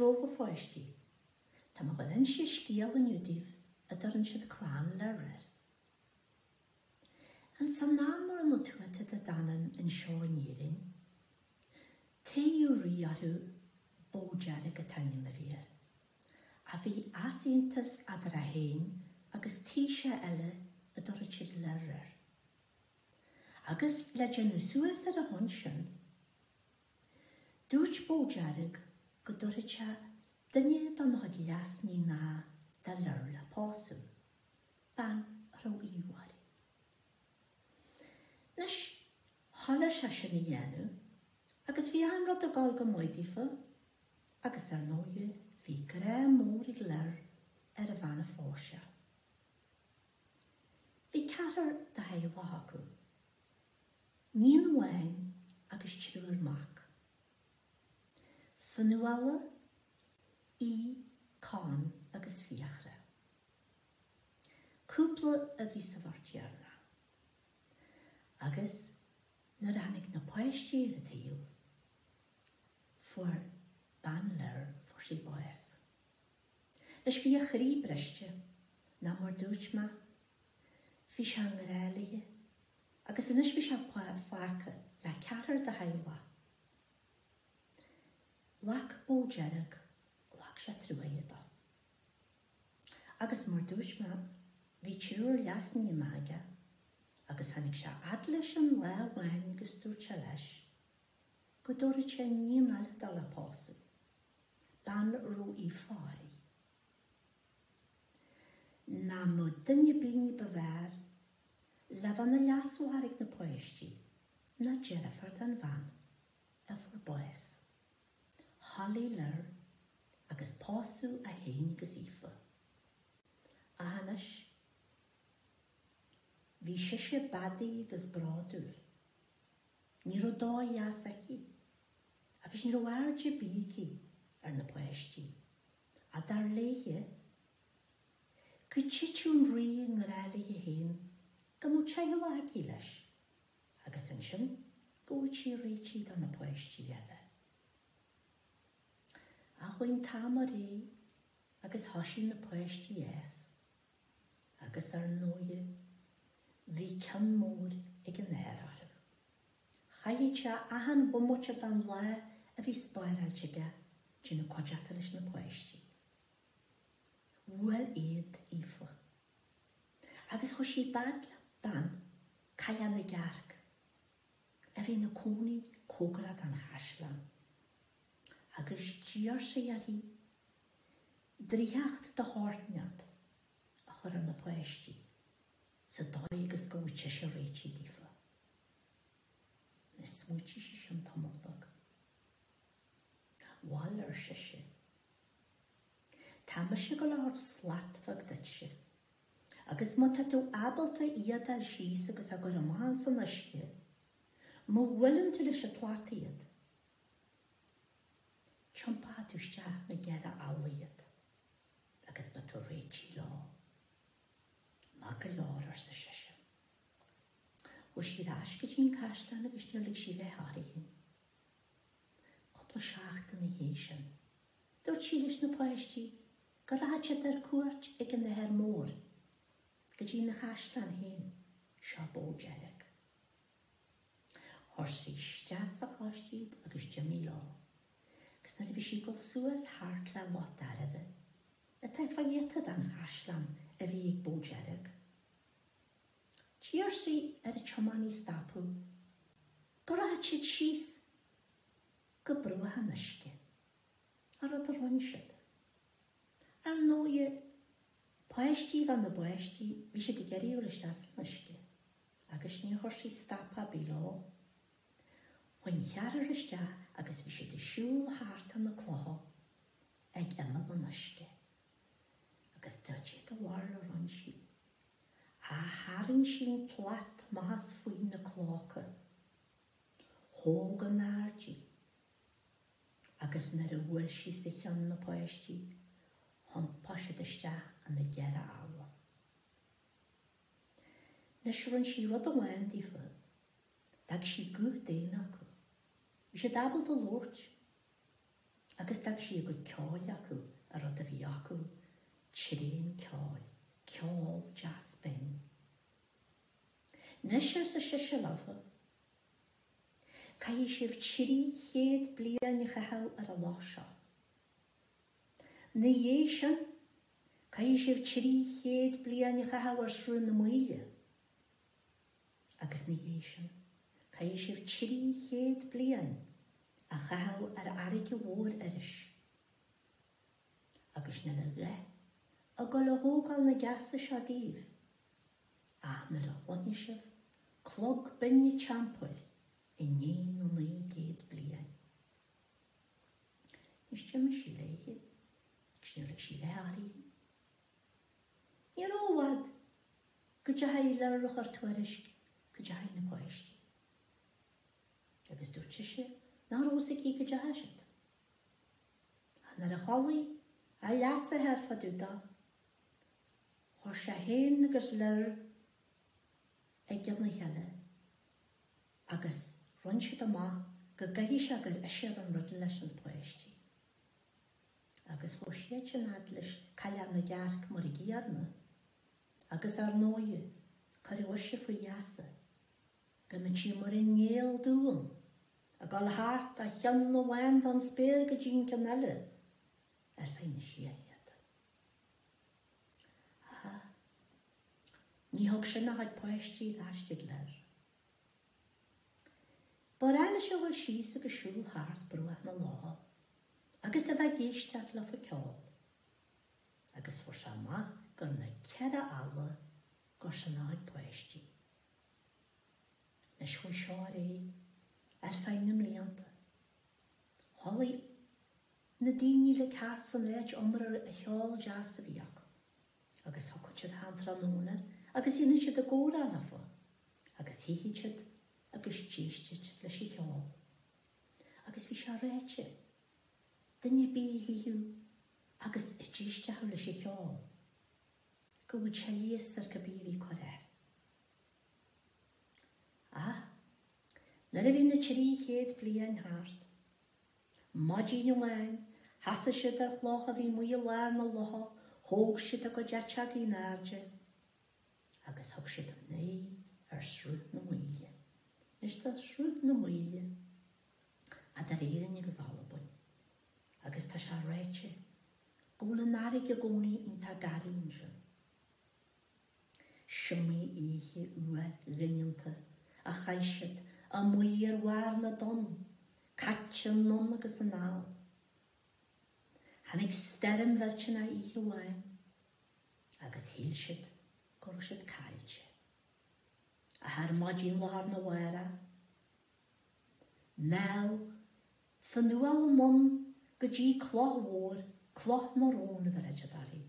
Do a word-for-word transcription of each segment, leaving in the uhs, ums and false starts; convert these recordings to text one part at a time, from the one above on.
Romhaibh a pháistí. Tá mé ag inse scéal inniu daoibh a dturann siad Clann Lir air. Ins an am a raibh na Tuatha Dé Danann anseo in Éirinn, toghadh rí orthu, Bó Dearg an t-ainm a bhí air, a bhí easaontas eadar é féin agus taoiseach eile a dtabharfadh siad Lir air. Agus le déanamh suas ar a shon sin, dúirt Bó Dearg go dtabharfadh sé duine dá chuid leas-níonacha do Lir le pósadh, bean a raibh aoibh uirthi. Anois, thoiligh sé sin a dhéanamh agus bhí achan rud ag dul go maith daofa agus ar ndóighe bhí grá mór ag Lir ar an bhean a phós sé. Bhí ceathrar de theaghlach acu, níon amháin agus triúr mac. Fionnuala, Aodh, Conn agus Fiachra. Cúpla a bhí sa bheirt dheireanach. Agus nuair a tháinig na páistí ar an tsaol, fuair bean Lir, fuair sí bás. Anois bhí a chroí briste, ná mar dúirt mé, bhí sé i ngrá léi, agus anois bhí sé fágtha le ceathrar de theaghlach. Ghlac Bó Dearg, ghlac sé truaighe dó. Agus mar dúirt mé, bhí triúr leas-níonacha aige, agus tháinig sé fhad leis an lá amháin agus dúirt sé leis go dtabharfadh sé níon eile dó le pósadh, bean a raibh aoibh uirthi. Nach mbeadh duine ar bith ní ba bhfearr le bheith ina leasmháthair ag na páistí ná deirfiúr den bhean a fuair bás. Thoiligh Lir agus pósadh é féin agus Aoife. Ach anois, bhí sise beadaí agus bródúil. Ní raibh dóigh as aici, agus ní raibh aird ar bith aici ar na páistí. Ach dar léithe, go dtitfeadh an rí i ngrá léi féin go mbeadh teaghlach aici leis, agus ansin go bhfuil sí réitithe do na páistí eile. Ach chuaigh an t-am ar aghaidh agus thoisigh na páistí a fhás, agus ar ndóighe, bhí cion mór ag an athair orthu. Chaithfeadh sé achan bhomaite den lá a bhí spáráilte aige déanamh cuideachta leis na páistí. Bhuail éad Aoife. Agus chuaigh sí i bpad le bean, Cailleach na gCearc, a bhí ina cónaí cóngarach don chaisleán. Agus d'iarr sí uirthi draíocht de shórt inteacht a chur ar na páistí sa dóigh agus go bhfuil sise réitithe daofa. Anois smaoitigh sí sin tamall beag. Bhail, ar sise. Tá mise ag gabháil a thabhairt slat bheag duitse. Agus má tá tú ábalta í a fháil síos agus a chur amach ins an uisce, má bhuaileann tú leis an tslat iad, tiompóidh tú isteach na gceithre ealla iad, agus beidh tú réitithe leo. Maith go leor, arsa sise. Chuaigh sí ar ais go dtí an caisleán agus níor lig sí bheith uirthi féin. Cúpla seachtain ina dhiaidh sin, dúirt sí leis na páistí go rachadh siad ar cuairt ag an athair mór, go dtí na chaisleán féin, seo Bó Dearg. Chuir sí isteach sa chóiste iad agus d'imigh leo, agus nuair a bhí sí ag dul suas thart le Loch Dairbhe, atá fá ghiota den chaisleán a bhí ag Bó Dearg. D'iarr sí ar an tiománaí stopadh go rachadh siad síos go bruach an uisce, an rud a rinne siad. Ar ndóighe, páistí bheith na bpáistí, bhí siad ag iarraidh dul isteach san uisce, agus níor chuir sí stop ar bith leo. Chuaigh an ceathrar isteach agus bhí siad ag siúl thart ar na clocha ag imeall an uisce. Agus cad é do bharúil a rinne sí. Ach tharraing sí an tslat amach as faoi na clocha. Thóg in airde í. Agus nuair a bhuail sí sa cheann na páistí, thiompaigh siad isteach ina gceithre ealla. Anois rinne sí rud amháin daofa, d'fhág sí guth daonna acu. Bhí siad ábalta labhairt, Agus d'fhág sí a gcuid ceoil acu, an rud a bhí acu, tréan ceoil, ceol deas binn. Anois, arsa sise leofa, caithfidh sibh trí chéad bliain a chaitheamh ar an loch seo. Ina dhiaidh sin, caithfidh sibh trí chéad bliain a chaitheamh ar Sruth na Maoile. Agus ina dhiaidh sin, caithfidh sibh trí chéad bliain a chaitheamh ar fharraige mhór Iorrais. Agus níl a dhath ag dul a thógáil na gceasa seo díbh, ach nuair a chluinfidh sibh clog binn an teampaill i ndiaidh na naoi gcéad bliain. Anois d'imigh sí léithe, agus níor lig sí a dhath uirthi. Ní raibh i bhfad go dteachaigh Lir a chur tuairisc go dteachaigh na páistí. Agus dúirt sise nach raibh fhios aici go dteachaigh siad. Ach nuair a chualaidh a leasathair fá dtaobh dó, chuir sé féin agus Lir i gcionn a chéile agus rinne siad amach go gcaithfidh sé gur ise a raibh an rud leis na páistí. Agus chuaigh siad sin fhad leis Cailleach na gCearc mar a gcéanna, agus ar ndóighe, cuireadh ise faoi gheasa go mbeadh sí mar an néal dúinn, ag dul thart ó cheann amháin den spéir go dtí an ceann eile ar feadh na síorthaíochta. Ach ní thug sin a chuid páistí ar ais tigh Lir. Ba ghnách leis a dhul síos agus siúl thart bruach na locha agus a bheith ag éisteacht leofa ag ceol, agus fuair sé amach gur na ceithre eala gur sin a chuid páistí. Anois chuaigh seo ar aghaidh ar feadh na mblianta. Chodlaigh na daoine uilig thart san áit iomra an cheol deas a bhí acu, agus thiocfadh siad achan tráthnóna agus dhéanadh siad a gcomhrá leofa, agus shuífeadh siad agus d'éistfeadh siad leis an cheol. Agus bhí sé ráite, duine ar bith a shuífeadh agus a d'éistfeadh leis an cheol, go bhfaigheadh sé leigheas ar cibé a bhí ag cur air. Ach nuair a bhí na trí chéad bliain thart, maidin amháin, sheasaigh siad ar chloch a bhí amuigh i lár na locha, thóg siad a gcuid eiteogaí in airde agus thug siad a n-aghaidh ar Shruth na Maoile. Anois tá Sruth na Maoile eadar Éirinn agus Albain agus tá sé ráite go bhfuil an fharraige i gcónaí iontach garbh ansin. S'iomaí oíche fhuar dhoineanta a chaith siad amuigh ar bharr na dtonn, caite anonn agus anall. Tháinig stoirm mhillteanach oíche amháin agus shíl siad go raibh siad caillte. Ach ar maidin lá arna mhárach, mealladh Fionnuala anonn go dtí cloch mhór, Cloch na Rón a bheireadh siad uirthi,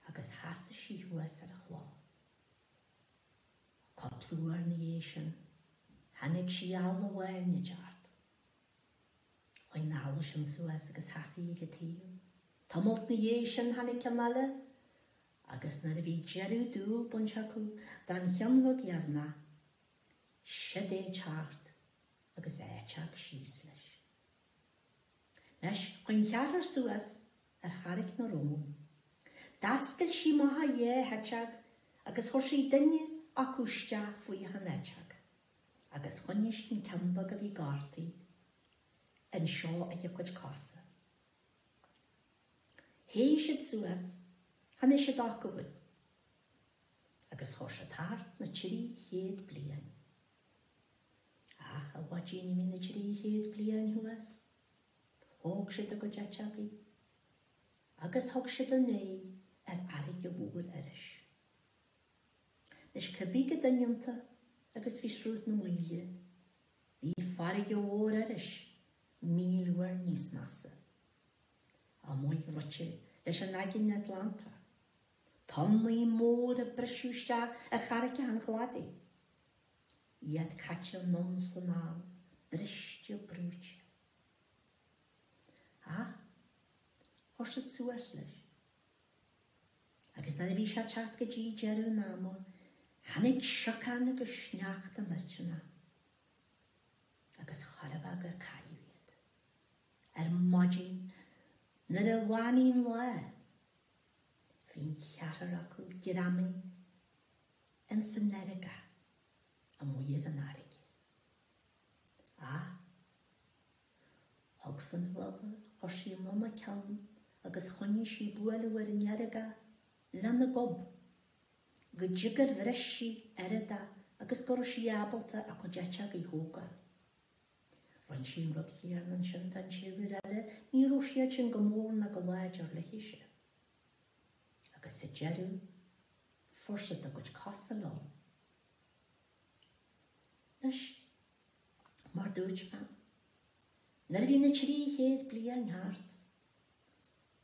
agus sheasaigh sí thuas ar an chloch. Cúpla uair ina dhiaidh sin, chonaic sí eala amháin ag teacht. Chuaigh an eala sin suas agus sheasaigh ag a taobh. Tamalt ina dhiaidh sin tháinig ceann eile, agus nuair a bhí deireadh dúil bainte acu den cheann bheag dheireanach, siod é ag teacht agus a eiteog síos leis. Anois, chuaigh an ceathrar suas ar Charraig na Rón. D'oscail sí amach a dhá heiteog agus chuir sí duine acu isteach faoi achan eiteog, agus choinnigh sí an ceann beag a bhí gortaithe anseo ag a cuid cosa. Théigh siad suas, tháinig siad acmhainn, agus chuir siad thart na trí chéad bliain. Ach, a mhaidin a bhí na trí chéad bliain thuas, thóg siad a gcuid eiteogaí agus thug siad a n-aghaidh ar fharraige mhór Iorrais. Anois, cibé chomh doineanta agus bhí Sruth na Maoile, bhí farraige mhór Iorrais míle uair níos measa. Amuigh rite leis an Aigéan Atlantach, tonnaí móra ag briseadh isteach ar charraigeacha an chladaigh, iad caite anonn 's anall, briste brúite. Ach chuir siad suas leis. Agus nuair a bhí sé ag teacht go dtí deireadh an ama, tháinig siocán agus sneachta millteanach, agus chairbheá gur cailleadh iad. Ar maidin, Nuair a bhánaigh an lá, bhí an ceathrar acu greamaithe ins an eargach amuigh ar an fharraige. Ach thug Fionnuala, chuir sí anonn a ceann agus choinnigh sí ag bualadh ar an eargach lena gob go dtí gur bhris sí oiread agus go raibh sí ábalta a cuid eiteogaí a thógáil. Rinne sí an rud céanna ansin don triúr eile, ní raibh siad sin go mór ná go láidir léithise. Agus sa deireadh, fuair siad a gcuid cosa leo. Anois, mar dúirt mé, nuair a bhí na trí chéad bliain thart,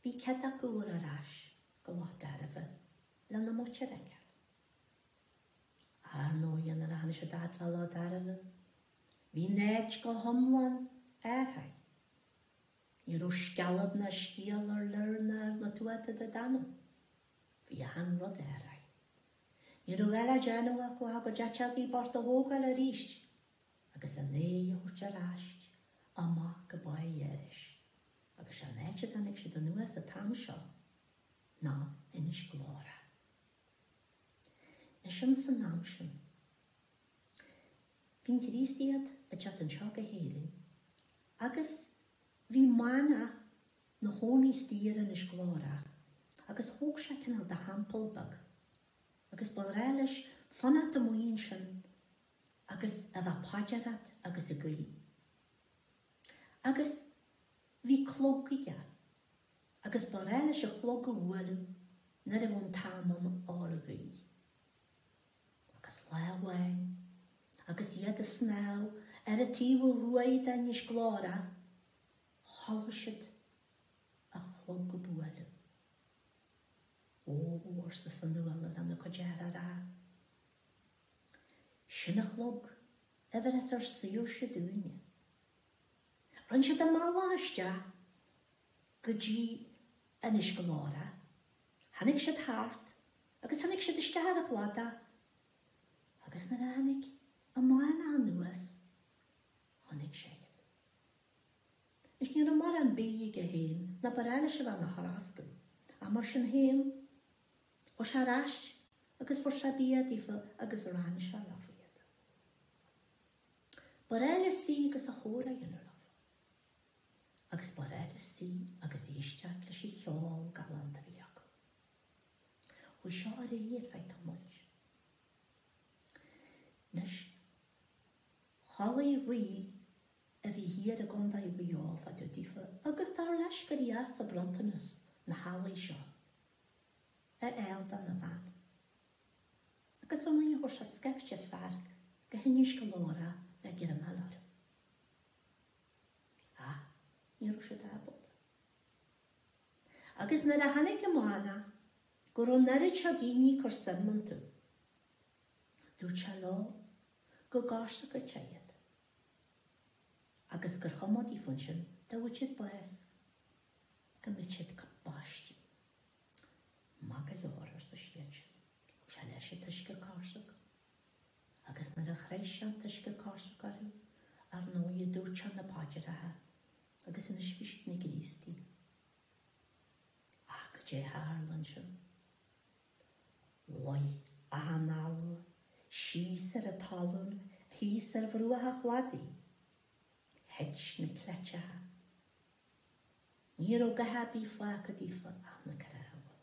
bhí cead acu dul ar ais go Loch Dairbhe lena muintir a fheiceáil. Ar ndóigh, nuair a tháinig siad fhad le Loch Dairbhe, bhí an áit go hiomlán athraithe. Ní raibh scealp ná sciáil ar Lir ná ar na Tuatha Dé Danann. Bhí achan rud athraithe. Ní raibh a dhath le déanamh acu ach a gcuid eiteogaí bochta a thógáil arís agus a n-aghaidh a thabhairt ar ais amach go Bá Iorrais. Agus sé an áit a dtáinig siad anuas an t-am seo ná Inis Glórach. Anois ins an am sin, bhí an Chríostaíocht ag teacht anseo go hÉirinn agus bhí manach 'na chónaí istigh ar Inis Glórach agus thóg sé cineál de theampall beag agus ba ghnách leis fanacht amuigh ansin agus a bheith ag paidreacht agus ag guí. Agus bhí clog aige agus ba ghnách leis an chlog a bhualadh nuair a bheadh an t-am ann a dhul a ghuí. Agus lá amháin, agus iad ag snámh ar an taobh ó thuaidh d'Inis Glórach, chuala siad an clog ag bualadh. Ó, arsa Fionnuala lena cuid deartháireacha, sin an clog a bheireas ár saoirse dúinne. Rinne siad a mbealach isteach go dtí Inis Glórach. Tháinig siad thart agus tháinig siad isteach ar an chladach agus nuair a tháinig an manach anuas, chonaic sé iad. Anois ní raibh mórán bídh aige féin ná ba ghnách leis a bheith ina throscadh, ach mar sin féin, chuaigh sé ar ais agus fuair sé bia daofa agus rann sé leofa iad. Ba ghnách leis suí agus a chomhrá a dhéanamh leofa. Agus ba ghnách leis suí agus éisteacht leis an cheol galánta a bhí acu. Chuaigh seo ar aghaidh ar feadh tamaill. Anois, chuala rí a bhí thiar i gContae Mhaigh Eo fá dtaobh daofa agus dar leis gur dheas an bronntanas na healaí seo a fháil dona bhean. Agus ar ndóigh chuir sé scaifte fear go hInis Glórach le greamáil orthu. Ach ní raibh siad ábalta. Agus nuair a chonaic an manach go raibh an oiread seo daoine ag cur suim iontu, dúirt sé leo go gcársacadh sé iad agus gur chuma daofa ansin dá bhfaigheadh siad bás go mbeadh siad baistí. Maith go leor, arsa siad sin. Thug sé leis an t-uisce cásach. Agus nuair a chroith sé an t-uisce cásach orthu, ar ndóigh, dúirt sé na paidreacha agus anois bhí siad ina gCríostaí. Ach goidé a tharla ansin? Luigh achan eala síos ar an talún thíos ar bhruach an chladaigh. Thit na cleiteacha. Ní raibh a dhath ar bith fágtha daofa ach na cnámha.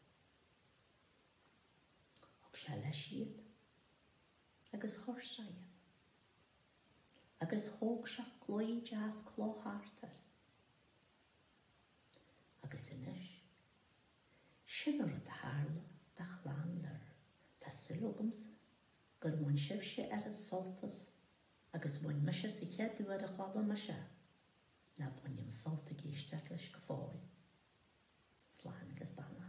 Thug sé leis iad agus chuir sé iad. Agus thóg sé claí deas cloch thart air. Agus anois, sin an rud a tharla do chlann Lir. Tá súil agamsa gur bhain sibhse oiread sult as agus bhain mise sa chéad uair a chuala mise é, ná bainim sult ag éisteacht leis go fóill. Slán agus beannacht.